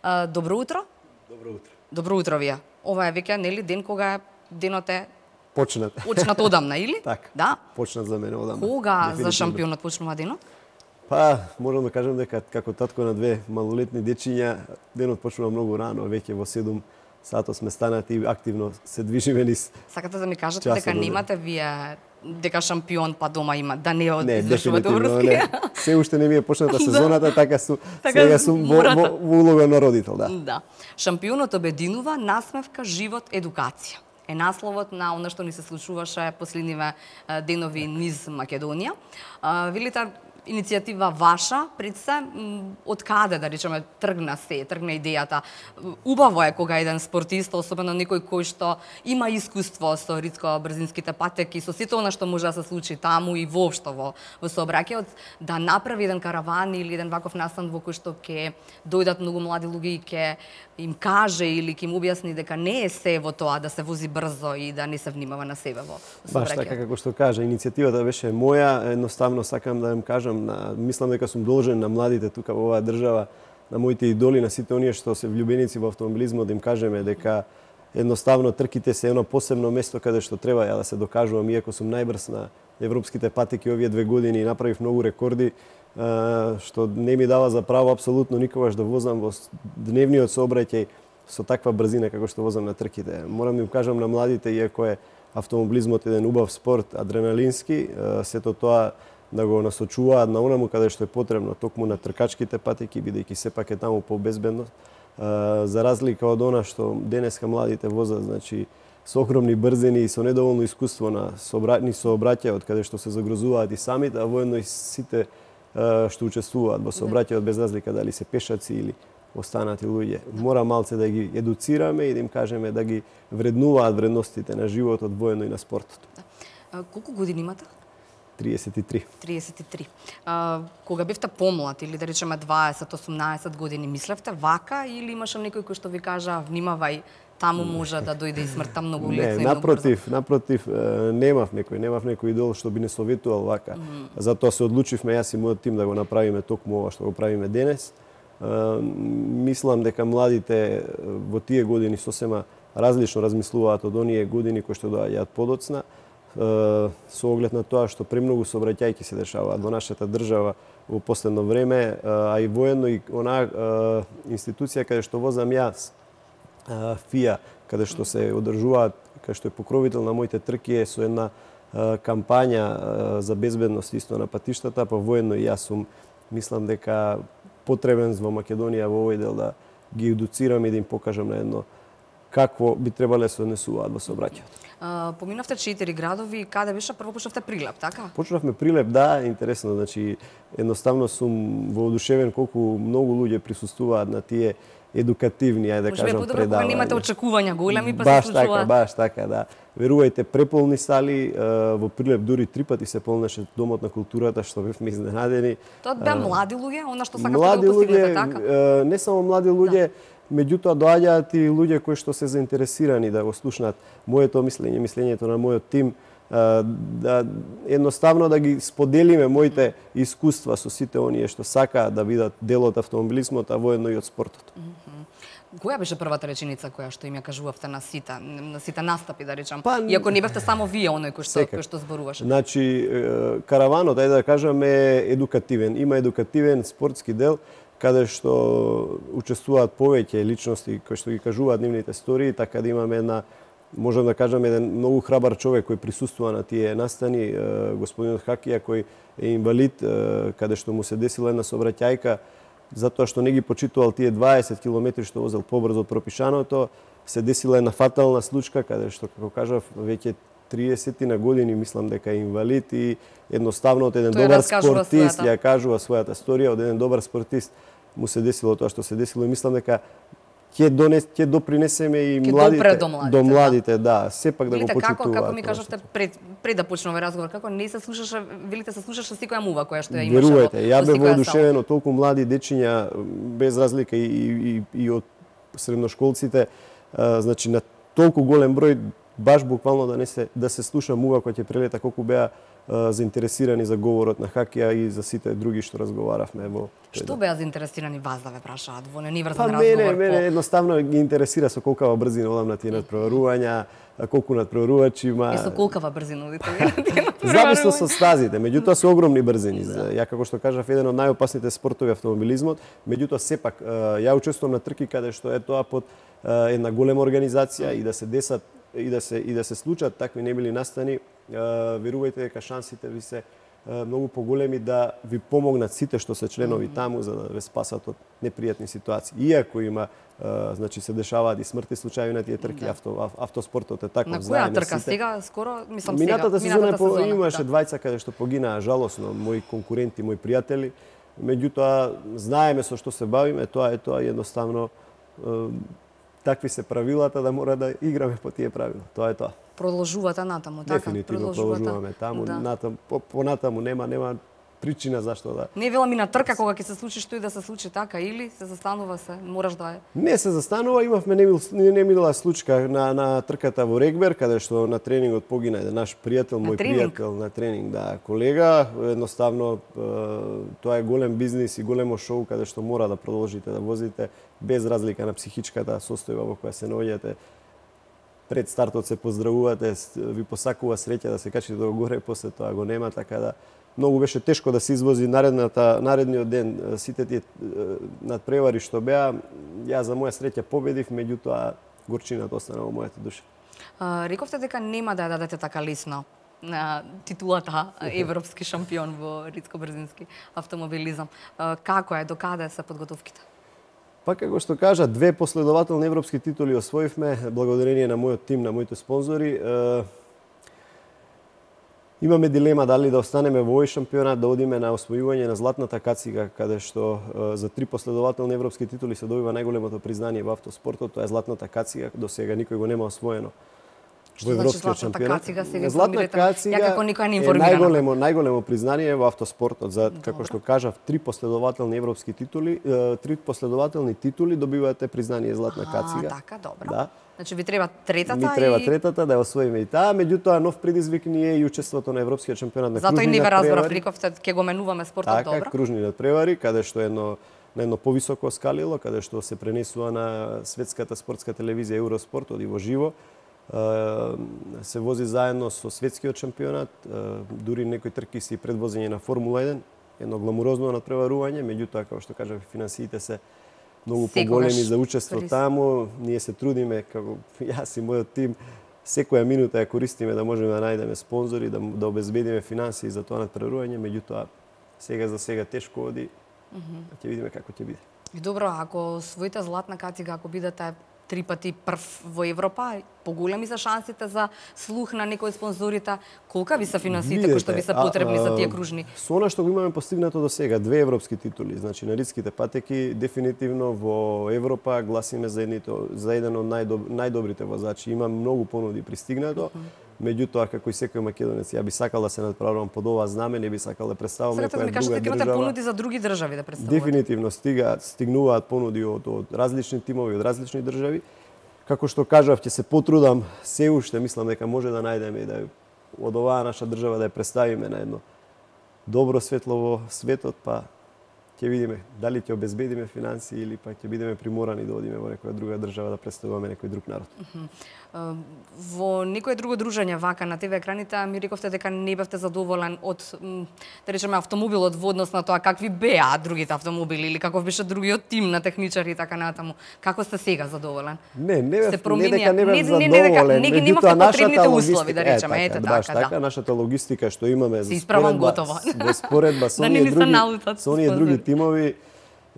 Добро утро. Добро утро. Добро утро вие. Ова е веќе нели ден кога денот е Почнат одамна, или? Така. Да. Почнат за мене одамна. Кога за шампионот почнува денот? Па, можам да кажам дека како татко на две малолетни дечиња, денот почнува многу рано, веќе во 7 сато сме станати и активно се движиме низ. Сакате да ми кажете дека немате вие дека шампион па дома има, да не извршувате врски? Не. Се уште не ми е почната сезоната, така сега сум во улога на родител, да. Да. Шампионот обединува, насмевка, живот, едукација. Е насловот на она што ни се случуваше последниве денови низ Македонија. Велите, иницијатива ваша, пред се, од каде, да речеме, тргна идејата. Убаво е кога еден спортист, особено некој кој што има искуство со ритко-брзинските патеки, со сето она што може да се случи таму и воопшто во сообраќајот, да направи еден караван или еден ваков настан во кој што ќе дојдат многу млади луѓе и ќе им каже или ќе им објасни дека не е се во тоа да се вози брзо и да не се внимава на себе во сообраќајот. Баш така како што кажа, иницијативата беше моја, едноставно сакам да им кажам, мислам дека сум должен на младите тука во оваа држава, на моите идоли, на сите оние што се влюбеници во автомобилизмот, да им кажеме дека едноставно трките се едно посебно место каде што треба ја да се докажувам, иако сум најбрз на европските патеки овие 2 години и направив многу рекорди, што не ми дава за право апсолутно никогаш да возам во дневниот сообраќај со таква брзина како што возам на трките. Морам да им кажам на младите, иако е автомобилизмот еден убав спорт, адреналински, сето тоа да го насочуваат на онаму каде што е потребно, токму на тркачките патеки, бидејќи сепак е таму побезбедно, за разлика од она што денеска младите возат, значи со огромни брзини и со недоволно искуство на сообраќајот, каде што се загрозуваат и самите, а воедно и сите што учествуваат во сообраќајот, без разлика дали се пешаци или останати луѓе. Мора малце да ги едуцираме и да им кажеме да ги вреднуваат вредностите на животот, воедно и на спортот. Колку години имате? 33. 33. Кога бевте помлад, или да речеме 20-18 години, мислевте вака или имаше некој кој што ви кажа внимавај, таму може да дојде и смртта многу лесно и многу брзо? Напротив, немав некој идол што би не советувал вака. Затоа се одлучивме јас и мојот тим да го направиме токму ова што го правиме денес. Мислам дека младите во тие години сосема различно размислуваат од оние години кои што доаѓаат подоцна, со оглед на тоа што премногу сообраќајки се дешаваат во нашата држава во последно време, а и воедно и онаа институција каде што возам јас, ФИА, каде што се одржуваат, каде што е покровител на моите трки, е со една кампања за безбедност исто на патиштата, па воедно и јас сум, мислам дека потребен во Македонија во овој дел да ги едуцирам и да им покажам на едно какво би требале да се однесуваат во сообраќајот. Поминавте 4 градови, каде беше? Прво почнавте Прилеп, така? Почнавме Прилеп, да, интересно, значи едноставно сум воодушевен колку многу луѓе присуствуваат на тие едукативни, ајде да кажам, предавања. Кога немате очекувања големи, па се случуваат. Баш така, да. Верувајте, преполни сали, во Прилеп дури 3 пати се полнеше домот на културата, што бевме изненадени. Тоа беа млади луѓе, она што сакате да го постигнете, така? Не само млади луѓе, меѓутоа доаѓаат и луѓе кои што се заинтересирани да го слушнат моето мислење, мислењето на мојот тим, да едноставно да ги споделиме моите искуства со сите оние што сакаат да бидат дел од автомобилизмот, а воедно и од спортот. Која беше првата реченица која што им ја кажувавте на сите настапи, да речам? Иако не бевте само вие оној кој што зборуваше. Значи, караванот, ајде да кажам, е едукативен. Има едукативен спортски дел, каде што учествуваат повеќе личности кои што ги кажуваат нивните истории, така да имаме една, можам да кажам, еден многу храбар човек кој присуствува на тие настани, господинот Хакија, кој е инвалид, каде што му се десила една сообраќајка, затоа што не ги почитувал тие 20 километри што возел побрзо од пропишаното, се десила една фатална случка, каде што, како кажав, веќе 30 на години, мислам дека е инвалид и едноставно од еден добар спортист ја кажува својата историја, од еден добар спортист му се десило тоа што се десило и мислам дека ќе допринесеме и до младите, да, сепак да го почитуваат. Како ми кажавте пред да почне овој разговор, како не се слушаше, велите се слушаше секоја мува која што ја имаше. Верувате, ја бев воодушевен од толку млади дечиња, без разлика и од средношколците, значи на толку голем број баш буквално да се слуша мува која ќе прелета колку беа заинтересирани за говорот на хокеја и за сите други што разговаравме во. Што беа заинтересирани вас да ве прашаат во неврзан Па разговор? мене едноставно ги интересира со колкава брзина одам на тие надпреварувања, колку надпреварувачи има. Со колкава брзина одите на тие надпреварувања? Зависно со стазите, меѓутоа се огромни брзини. Ја како што кажав, еден од најопасните спортови автомобилизмот, меѓутоа сепак ја учествувам на трки каде што е тоа под една голема организација и да се десат и да се случат такви немили настани, верувајте дека шансите ви се многу поголеми да ви помогнат сите што се членови таму за да ве спасат од непријатни ситуации. Иако има значи се дешаваат и смртни случаи на тие трки, автоспортот е таков. На која трка сега скоро, мислам сега, минатата сезона имаше да. двајца каде што погинаа жалосно, мои конкуренти, мои пријатели. Меѓутоа знаеме со што се бавиме, тоа е едноставно такви се правилата да мора да играме по тие правила. Тоа е тоа. Продолжувате натаму, така? Дефинитивно продолжуваме таму, натаму, понатаму нема причина зашто да. Не е вела мина трка кога ќе се случи што и да се случи така или се застанува се, мораш да е. Не се застанува, имавме немила случка на трката во Регбер каде што на тренингот погина еден наш пријател, мој пријател на тренинг, да, колега, едноставно тоа е голем бизнис и големо шоу каде што мора да продолжите да возите без разлика на психичката состојба во која се наоѓате. Пред стартот се поздравувате, ви посакува среќа да се качите до горе, после тоа го нема, така да многу беше тешко да се извози наредниот ден сите тие надпревари што беа. Ја за моја среќа победив, меѓутоа горчината остана во мојата душа. Рековте дека нема да ја дадете така лесно на титулата европски шампион во ридско-брзински автомобилизам. Како е, докаде се подготовките? Па како што кажа, 2 последователни европски титули освоивме благодарение на мојот тим, на моите спонзори. Имаме дилема дали да останеме во овој шампионат, да одиме на освојување на златната кацига, каде што за 3 последователни европски титули се добива најголемото признание во автоспортот, тоа е златната кацига, до сега никој го нема освоено. Што значи златната кацига? Златна кацига ја како никој не информирана. најголемо признание во автоспортот за како што кажав 3 последователни европски титули, 3 последователни титули добивате признание златна кацига. Така, добро. Да. Значи ви треба третата Ми треба третата да ја освоиме и таа, меѓутоа нов предизвик ни е и учеството на европскиот шампионат на кружни надпревари. Затоа и не ве разбрав, рековте ќе го менуваме спортот, така, добро. Кружни надпревари, каде што на едно повисоко скалило, каде што се пренесува на светската спортска телевизија Евроспорт, оди во живо. Се вози заедно со светскиот шампионат, дури некои трки си предвозење на Формула 1, едно гламурозно надпреварување, меѓутоа како што кажав, финансиите се многу поголеми за учество таму. Ние се трудиме, како јас и мојот тим, секоја минута ја користиме да можеме да најдеме спонзори, да обезбедиме финансии за тоа надпреварување, меѓутоа сега за сега тешко оди. Ќе видиме како ќе биде. Добро, ако освоите златна кацига, ако бидете 3 пати прв во Европа, поголеми се шансите за слух на некои од спонзорите. Колка ви се финансиите кои што ви се потребни за тие кружни? Со она што го имаме постигнато до сега, 2 европски титули, значи на ридските патеки, дефинитивно во Европа гласиме за еден од најдобрите возачи. Има многу понуди пристигнато. Меѓутоа, како и секој македонец, ја би сакал да се надправам под ова знаме, не би сакал да представам некоја друга држава. Сега да ми кажете, имате понуди за други држави да представувате? Дефинитивно стигнуваат понуди од различни тимови, од различни држави. Како што кажав, ќе се потрудам се уште, мислам дека може да најдеме и да од оваа наша држава да ја представиме на едно добро светло во светот, па ќе видиме дали ќе обезбедиме финансии или па ќе бидеме приморани да одиме во некоја друга држава да представуваме некој друг народ. Во некое друго дружење вака на ТВ екраните ми рековте дека не бевте задоволен од, да речеме, автомобилот во однос на тоа какви беа другите автомобили или каков беше другиот тим на техничари и така натаму. Како сте сега задоволен? Не бев задоволен. Не ги немавте потребните услови, да речеме, ете така. Нашата логистика што имаме за споредба со оние други тимови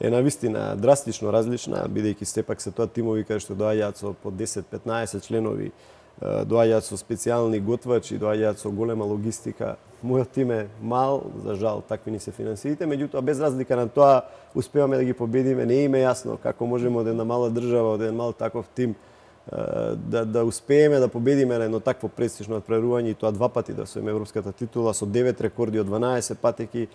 е навистина драстично различна, бидејќи сепак се тоа тимови каде што доаѓаат со по 10-15 членови, доаѓаат со специјални готвачи, доаѓаат со голема логистика. Мојот тим е мал, за жал, такви ни се финансиите, меѓутоа без разлика на тоа успеваме да ги победиме. Не им е јасно како можеме од една мала држава, од еден мал таков тим да успееме да победиме на едно такво престижно надпреварување и тоа 2 пати да освоиме европската титула со 9 рекорди од 12 патеки.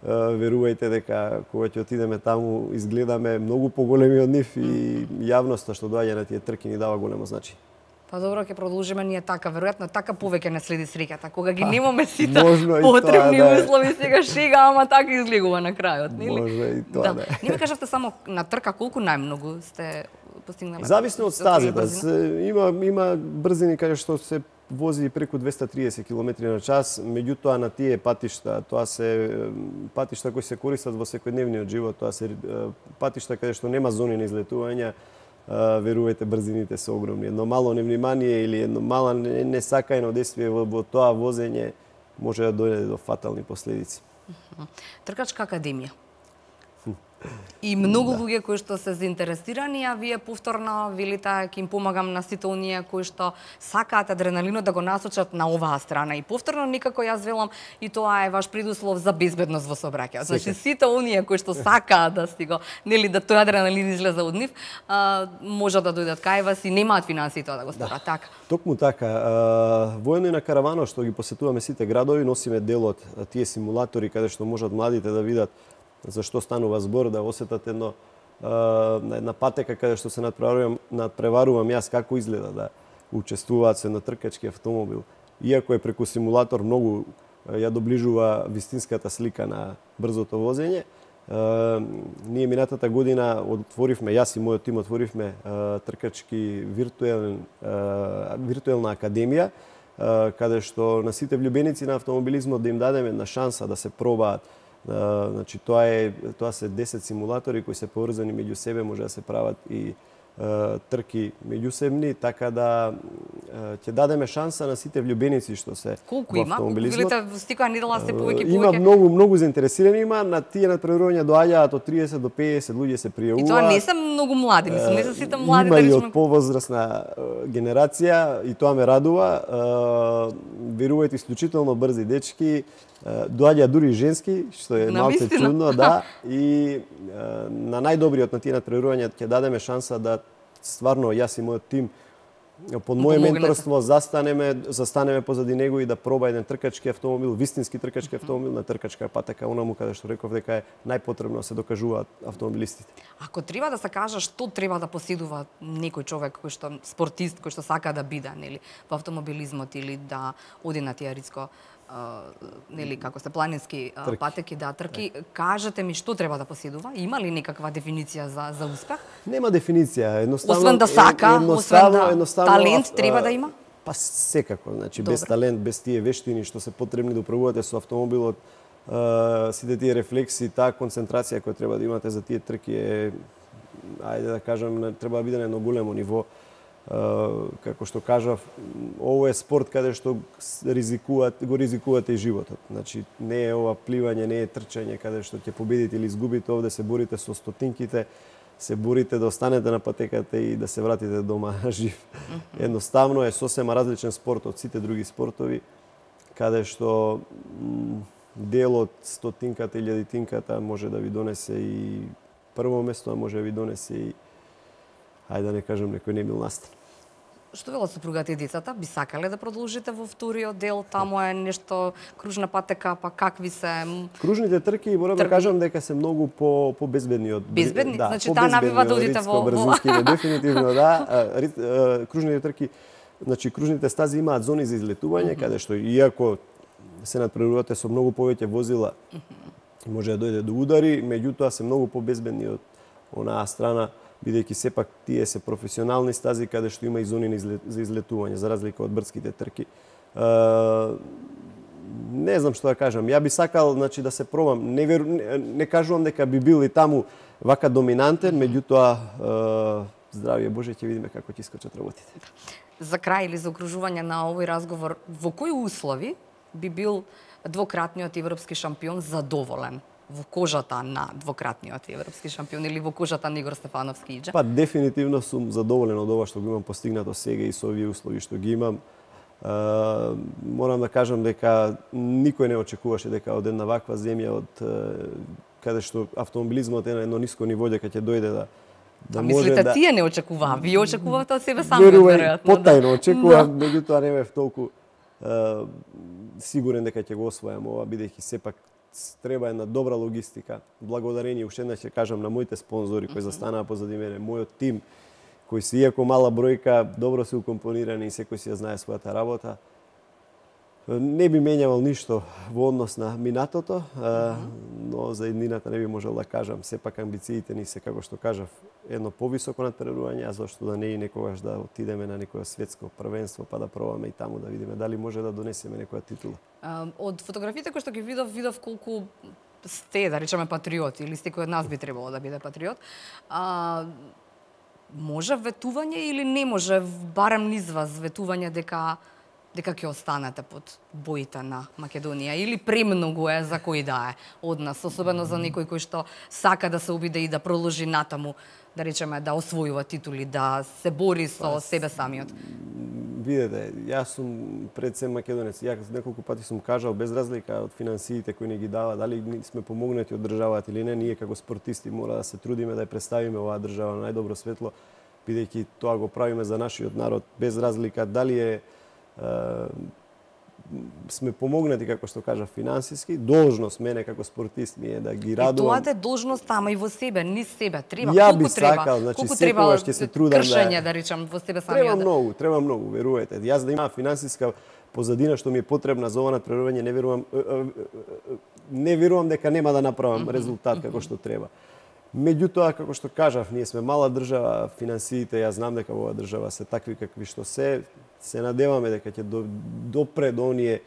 Верувајте дека кога ќе отидеме таму изгледаме многу поголеми од нив и јавноста што доаѓа на тие трки ни дава големо значење. Па добро, ќе продолжиме ние така, веројатно така повеќе не следи среќата, кога ги немаме сите можно и потребни тоа, да. услови, сега шега, ама така изгледува на крајот, нели? Може и тоа, да. Не ми кажавте само на трка колку најмногу сте постигнале? Зависно од стазата. Има брзини каде што се вози преку 230 км на час, меѓутоа на тие патишта, тоа се патишта кои се користат во секојдневниот живот, тоа се патишта каде што нема зони на излетување, верувајте, брзините се огромни. Едно мало невнимание или едно мало несакаено действие во тоа возење може да дојде до фатални последици. Тркачка академија. И многу луѓе кои што се заинтересирани, а вие повторно велите ќе им помагам на сите оние кои што сакаат адреналинот да го насочат на оваа страна. И повторно никако јас велам и тоа е ваш предуслов за безбедност во сообраќајот. Значи сите оние кои што сакаат да го, нели, да тој адреналин излезе од нив, може да дојдат кај вас и немаат финансии тоа да го сторат, така. Токму така. Воено и на каравано што ги посетуваме сите градови, носиме дел од тие симулатори каде што можат младите да видат за што станува збор, да осетат една патека каде што се надпреварувам јас како изгледа да учествуваат се на тркачки автомобил. Иако е преку симулатор многу ја доближува вистинската слика на брзото возење. Ние минатата година отворивме, јас и мојот тим отворивме тркачки виртуелна академија, каде што на сите влюбеници на автомобилизмот да им дадеме една шанса да се пробаат. Значи тоа се 10 симулатори кои се поврзани меѓу себе, може да се прават и трки меѓусебни, така да ќе дадеме шанса на сите влюбеници што се колку во има? автомобилизмот. Велите во стикоја недела се повеќе. Има многу заинтересирани, има на тие надпреварувања доаѓаат од 30 до 50 луѓе се пријавуваат. И тоа не се многу млади, мислам, не се сите млади. Има и од повозрасна генерација и тоа ме радува. Верувајте, исклучително брзи дечки, доаѓаат дури и женски, што е малце чудно, да, и на најдобриот на тие надпреварувања ќе дадеме шанса да стварно јас и мојот тим под моје менторство застанеме позади него и да проба еден тркачки автомобил, вистински тркачки автомобил на тркачка патека, онаму каде што реков дека е најпотребно да се докажуваат автомобилистите. Ако треба да се каже што треба да поседува некој човек кој што спортист, кој што сака да биде, нели, во автомобилизмот или да оди на тие риско, нели, како се планински патеки, да, трки, кажете ми што треба да поседува? Има ли некаква дефиниција за успех? Нема дефиниција, едноставно. Освен да сака, освен да талент треба да има? Па секако, значи без талент, без тие вештини што се потребни да управувате со автомобилот, сите тие рефлекси, таа концентрација која треба да имате за тие трки е, ајде да кажам, треба да биде на едно големо ниво. Како што кажав, ово е спорт каде што го ризикувате и животот. Значи, не е ова пливање, не е трчање каде што ќе победите или изгубите, овде се борите со стотинките, се борите да останете на патеката и да се вратите дома жив. Едноставно е сосема различен спорт од сите други спортови, каде што дел од стотинката или илјадитинката може да ви донесе и прво место, а може да ви донесе и, ајде да не кажам, некој немил настан. Што велат супругата и децата? Би сакале да продолжите во вториот дел? Таму е нешто кружна патека, па какви се? Кружните трки, морам да кажам дека се многу по-безбедни од... Безбедни? Да, значи таа навива да одите во... Брзинските, дефинитивно, да. Кружните трки, значи кружните стази имаат зони за излетување, каде што иако се надпреварувате со многу повеќе возила, може да дојде до удари, меѓутоа се многу по-безбедни од онаа страна, бидејќи сепак тие се професионални стази каде што има и зони за излетување, за разлика од брдските трки. Не знам што да кажам. Ја би сакал, значи, да се пробам. Не кажувам дека би бил и таму вака доминантен, меѓутоа здравје Боже, ќе видиме како ќе искочат работите. За крај или за окружување на овој разговор, во кои услови би бил двократниот европски шампион задоволен? Во кожата на двократниот европски шампион или во кожата на Игор Стефановски иџе? Па дефинитивно сум задоволен од ова што го имам постигнато сега и со овие услови што ги имам. Морам да кажам дека никој не очекуваше дека од една ваква земја, од каде што автомобилизмот е на едно ниско ниво, дека ќе дојде да може мислите, да... тие не очекуваа, вие очекувавте од себе сами, веројатно. Потајно очекувам, меѓутоа не бев толку сигурен дека ќе го освојам ова, бидејќи сепак треба една добра логистика. Благодарение, уште еднаш ќе кажам, на моите спонзори кои застанаа позади мене, мојот тим кои се иако мала бројка, добро се укомпонирани и секој си ја знае својата работа. Не би менјавал ништо во однос на минатото, но за иднината не би можел да кажам. Сепак амбициите ни се, како што кажав, едно повисоко надпреварување, а зашто да не и некогаш да отидеме на некое светско првенство, па да пробаме и таму да видиме дали може да донесеме некоја титула. Од фотографиите кои што ги видов колку сте, да речеме, патриот, или секој од нас би требало да биде патриот. Може ветување или не може, барем низ вас, ветување дека ќе останете под боите на Македонија, или премногу е за кој да е од нас, особено за некој кој што сака да се обиде и да продолжи натаму, да речеме, да освојува титули, да се бори со себе самиот. Видете, јас сум пред се македонец. Јас неколку пати сум кажал, без разлика од финансиите кои не ги дава, дали сме помогнати од државата или не, ние како спортисти мора да се трудиме да ја представиме оваа држава на најдобро светло, бидејќи тоа го правиме за нашиот народ, без разлика дали е сме помогнати, како што кажа, финансиски. Должност мене како спортист ми е да ги радувам. И тоа е должност, ама и во себе, низ себе. Треба, ја би сакал, значи секогаш ќе се трудам кршење, да речам, во себе самиот. Треба многу, верувате. Јас да имам финансиска позадина што ми е потребна за ова надпреварување, не верувам дека нема да направам резултат како што треба. Меѓутоа, како што кажав, ние сме мала држава, финансиите, јас знам дека во оваа држава се такви какви што се надеваме дека ќе допре до оние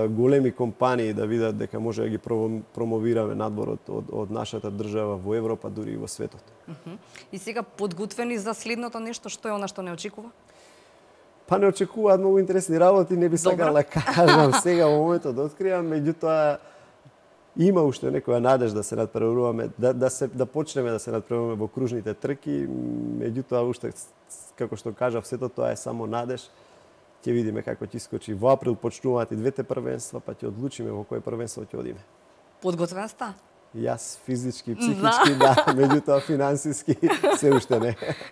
големи компании да видат дека може да ги промовираме надвор од нашата држава во Европа, дури и во светот. И сега подготвени за следното нешто, што е она што не очекува? Па не очекуваат многу интересни работи, не би сакал да кажам сега во моментот да откријам, меѓутоа има уште некоја надеж да се надпреваруваме, да почнеме да се надпреваруваме во кружните трки, меѓутоа уште, како што кажав, сето тоа е само надеж. Ќе видиме како ќе искочи. Во април почнуваат и двете првенства, па ќе одлучиме во кој првенство ќе одиме. Подготвен сте? Јас физички, психички, да, меѓутоа финансиски се уште не.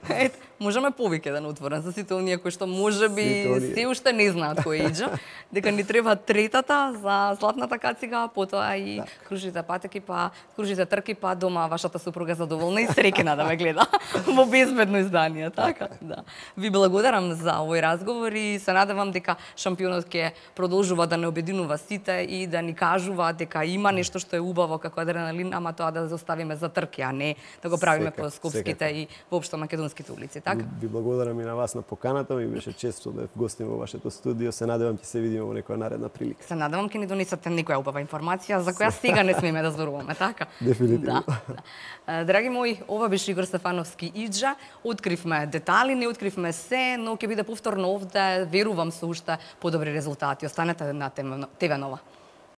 Ето, можеме повеќе да отворен за сите оние кои што можеби се уште не знаат кој иџа, дека ни треба третата за златната кацига, потоа и кружите патеки, па кружите трки, па дома вашата супруга задоволна и среќна да ме гледа во безбедно издание, така? Да. Ви благодарам за овој разговор и се надевам дека шампионот ќе продолжува да не обединува сите и да ни кажува дека има нешто што е убаво како адреналин, ама тоа да заставиме за трки, а не да го правиме по скопските и воопшто македонските улици, така? Ви благодарам и на вас на поканата, ми беше чест што бев гостин во вашето студио. Се надевам ќе се видиме во некоја наредна прилика. Се надевам ќе ни донесете некоја убава информација за која сега не смееме да зборуваме, така? Дефинитивно. Да. Драги мои, ова беше Игор Стефановски Иџа. Откривме детали, не откривме се, но ќе биде повторно овде, верувам со уште подобри резултати. Останете на ТВ Нова.